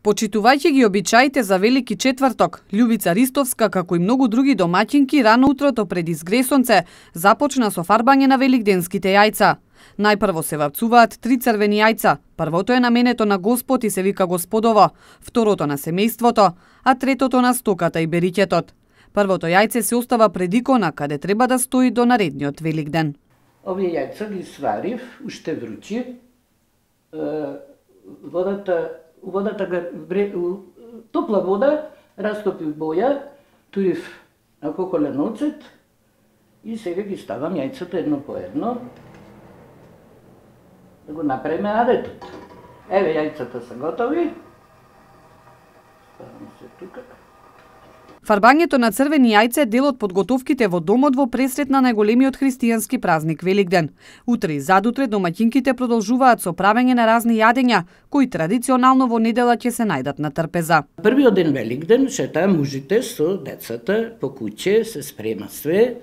Почитувајќи ги обичаите за Велики четврток, Љубица Ристовска, како и многу други домаќинки, рано утрото пред изгресонце започна со фарбање на великденските јајца. Најпрво се вапцуваат 3 црвени јајца. Првото е наменето на Господ и се вика Господово, второто на семејството, а третото на стоката и бериќетот. Првото јајце се остава пред икона, каде треба да стои до наредниот Великден. Овие јајца ги сварив, уште вручи. Топла вода, растопив боја, турив на коколен оцет и сега ги ставам јајцата едно по едно да го направиме адетот. Еве јајцата се готови. Ставам се тука. Фарбањето на црвени јајца е дел од подготовките во домот во пресрет на најголемиот христијански празник Великден. Утре и задутре домаќинките продолжуваат со правење на разни јадења, кои традиционално во недела ќе се најдат на трпеза. Првиот ден Великден шетаа мужите со децата по куќе, се спрема све,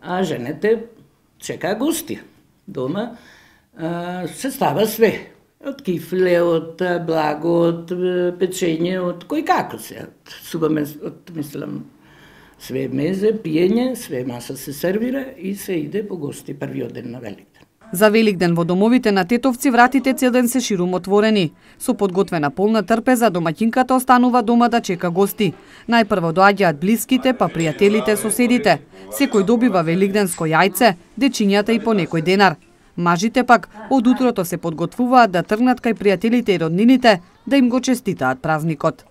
а жените чекаа гости. Дома се става све. Од кифле, од благо, од печење, од кој како се. Мислам, све мезе, пиење, све маса се сервира и се иде по гости првиот ден на Великден. За Великден во домовите на тетовци вратите цел ден се ширум отворени. Со подготвена полна трпеза домаќинката останува дома да чека гости. Најпрво доаѓаат блиските, па пријателите, соседите. Секој добива великденско јајце, дечињата и по некој денар. Мажите пак од утрото се подготвуваат да тргнат кај пријателите и роднините да им го честитаат празникот.